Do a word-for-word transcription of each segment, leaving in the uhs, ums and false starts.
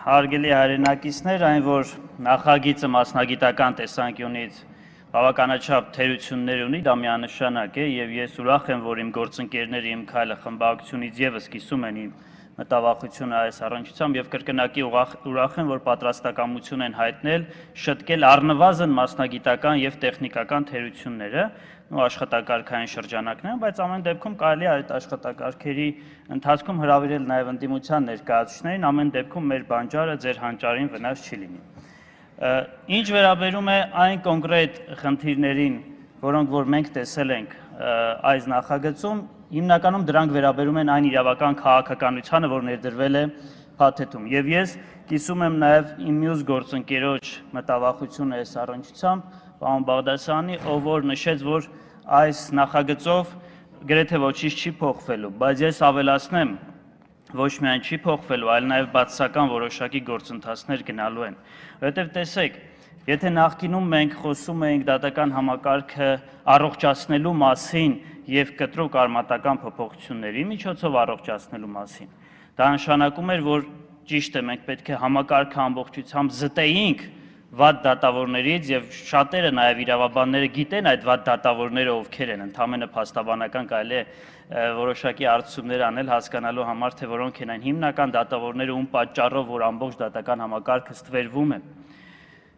Հարգելի հայրենակիցներ, այն որ նախագիծը մասնագիտական տեսանկյունից բավականաչափ թերություններ ունի, դա միանշանակ է, եւ ես ուրախ եմ, որ իմ գործընկերները իմ քայլը խմբակցությունից եւս կիսում են իմ մտավախությունը այս առնչությամբ եւ կրկնակի ուրախ եմ, որ պատրաստակամություն են հայտնել շտկել առնվազն մասնագիտական եւ տեխնիկական թերությունները ու աշխատակարգային շրջանակներում, բայց ամեն դեպքում կարելի է այդ աշխատակարգերի ընթացքում հրավիրել նաև ընդդիմության ներկայացուցիչներին, ամեն դեպքում մեր բանջարը ձեր հանճարին վնաս չի լինի։ Ինչ վերաբերում է այն կոնկրետ խնդիրներին, որոնք որ մենք տեսել ենք այս նախագծում, հիմնականում դրանք վերաբերում են այն իրավական քաղաքականությանը, որ ներդրվել է փաթեթում։ Եվ ես կիսում եմ նաև իմ մյուս գործընկերոջ մտավախությունը այս առնչությամբ, պարոն Բաղդասարյանի, ով որ նշեց, որ այս նախագծով գրեթե ոչինչ չի փոխվելու, բայց ես ավելացնեմ, ոչ միայն չի փոխվելու, այլ նաև բացասական որոշակի գործընթացներ գնալու են։ Որովհետև տեսեք, եթե նախկինում մենք խոսում էինք դատական համակարգը առողջացնելու մասին եւ կտրուկ արմատական փոփոխությունների միջոցով առողջացնելու մասին, դա նշանակում էր, որ ճիշտ է, մենք պետք է համակարգը ամբողջությամբ զտեինք վատ դատավորներից եւ շատերը նաեւ իրավաբանները գիտեն այդ վատ դատավորները ովքեր են, ընդհանրապես փաստաբանական կարելի է որոշակի արդյունքներ անել հասկանալու համար, թե որոնք են այն հիմնական դատավորները, ում պատճառով որ ամբողջ դատական համակարգը ստվերվում է։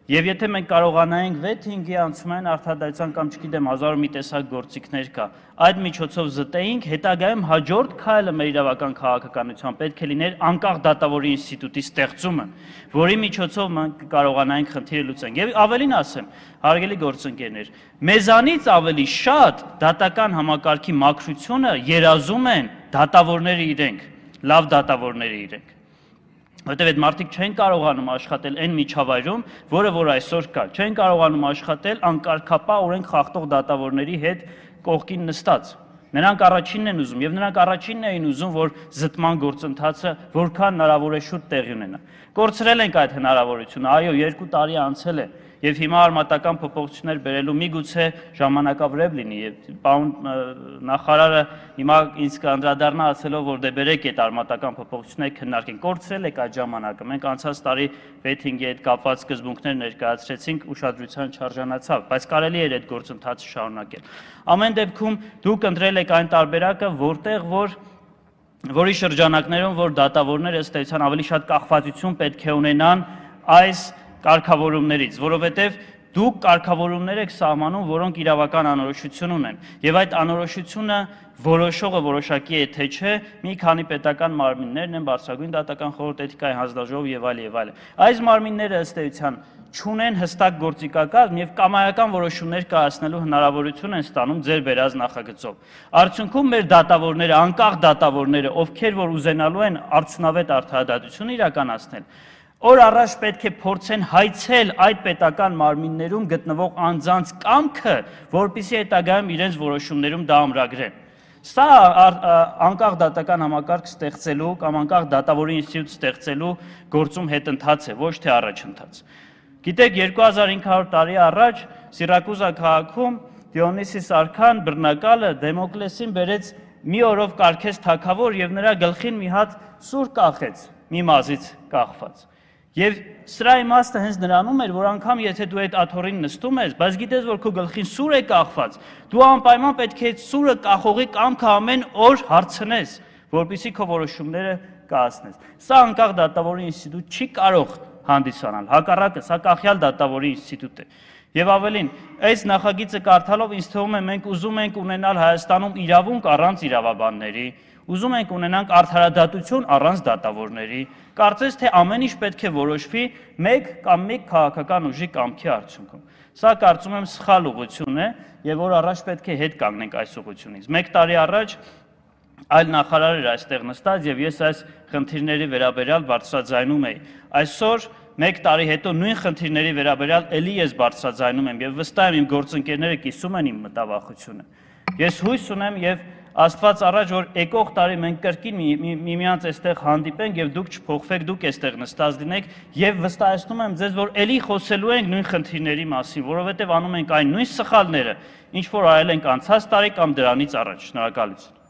Եվ եթե մենք կարողանայինք վեթինգի անցումային արդարադատության կամ չգիտեմ հազար մի տեսակ գործիքներ կա, այդ միջոցով զտեինք, հետագայում հաջորդ քայլը մեր իրավական քաղաքականության պետք է լիներ անկախ դատավորի ինստիտուտի ստեղծումը, որի միջոցով մենք կարողանայինք խնդիրը լուծենք։ Եվ ավելին ասեմ, հարգելի գործընկերներ, մեզանից ավելի շատ դատական համակարգի մաքրությունը երազում են դատավորները իրենք, լավ դատավորները իրենք։ Որտեւ այդ մարդիկ չեն կարողանում աշխատել այն միջավայրում, որը որ այսօր կա, չեն կարողանում աշխատել անկարգապահ օրենք խախտող դատավորների հետ կողքին նստած։ Նրանք առաջինն են ուզում եւ նրանք առաջինն էին ուզում, որ զտման գործընթացը որքան հնարավոր է շուտ տեղի ունենա։ Կորցրել ենք այդ հնարավորությունը, այո, երկու տարի անցել է եւ հիմա արմատական փոփոխություններ բերելու միգուցե ժամանակավրեպ լինի եւ պարոն նախարարը հիմա ինձ կանդրադառնա ասելով, որ դե բերեք այդ արմատական փոփոխությունները քննարկենք, կորցրել եք այդ ժամանակը, մենք անցած տարի վեթինգի հետ կապված սկզբունքներ ներկայացրեցինք, ուշադրության չարժանացավ, բայց կարելի էր այդ գործընթացը շարունակել։ Ամեն դեպքում դուք ընտրել եք այն տարբերակը, որտեղ որ որի շրջանակներում որ դատավորները ըստ էության ավելի շատ կախվածություն պետք է ունենան այս կարգավորումներից, որովհետև դուք կարգավորումներ եք սահմանում, որոնք իրավական անորոշություն ունեն, եւ այդ անորոշությունը որոշողը որոշակի է թե չէ, մի քանի պետական մարմիններն են, Բարձրագույն դատական խորհուրդ, Էթիկայի հանձնաժողով եւ այլ եւ այլ։ Այս մարմինները ըստ էության չունեն հստակ գործիքակազմ եւ կամայական որոշումներ կայացնելու հնարավորություն են ստանում ձեր բերած նախագծով։ Արդյունքում մեր դատավորները, անկախ դատավորները, ովքեր որ ուզենալու են արդյունավետ արդարադատություն իրականացնել, օր առաջ պետք է փորձեն հայցել այդ պետական մարմիններում գտնվող անձանց կամքը, որպեսզի հետագայում իրենց որոշումներում դա ամրագրեն։ Սա անկախ դատական համակարգ ստեղծելու կամ անկախ դատավորի ինստիտուտ ստեղծելու գործում հետընթաց է, ոչ թե առաջընթաց։ Գիտեք, երկու հազար հինգ հարյուր տարի առաջ Սիրակուզա քաղաքում Դիոնիսիս արքան բռնակալը Դեմոկլեսին բերեց մի օրով կարգեց թագավոր եւ նրա գլխին մի հատ սուր կախեց, մի մազից կախված։ Եվ սրա իմաստը հենց նրանում էր, որ անգամ եթե դու այդ աթոռին նստում ես, բայց գիտես, որ քո գլխին սուր է կախված, դու անպայման պետք է այդ սուրը կախողի կամքը ամեն օր հարցնես, որպեսզի քո որոշումները կայացնես։ Սա անկախ դատավորի ինստիտուտ չի կարող հանդիսանալ, հակառակը, սա կախյալ դատավորի ինստիտուտ է։ Եվ ավելին, այս նախագիծը կարդալով ինձ թվում է մենք ուզում ենք ունենալ Հայաստանում իրավունք առանց իրավաբանների, ուզում ենք ունենանք արդարադատություն առանց դատավորների, կարծես թե ամեն ինչ պետք է որոշվի մեկ կամ մեկ քաղաքական ուժի կամքի արդյունքում։ Սա կարծում եմ սխալ ուղղություն է եւ որ առաջ պետք է հետ կանգնենք այս ուղղությունից։ Մեկ տարի առաջ այլ նախարար էր այստեղ նստած եւ ես այս խնդիրների վերաբերյալ բարձրաձայնում էի։ Այսօր մեկ տարի հետո նույն խնդիրների վերաբերյալ ելի ես բարձրաձայնում եմ եւ վստահ եմ իմ գործընկերները կիսում են իմ մտավախությունը։ Ես հույս ունեմ եւ Աստված առաջ, որ եկող տարի մենք կրկին միմյանց այստեղ հանդիպենք եւ դուք չփոխվեք, դուք այստեղ նստած լինեք եւ վստահեցնում եմ ձեզ, որ ելի խոսելու ենք նույն խնդիրների մասին, որովհետեւ անում ենք այն նույն սխալները, ինչ որ արել ենք անցած տարի կամ դրանից առաջ։ Շնորհակալություն։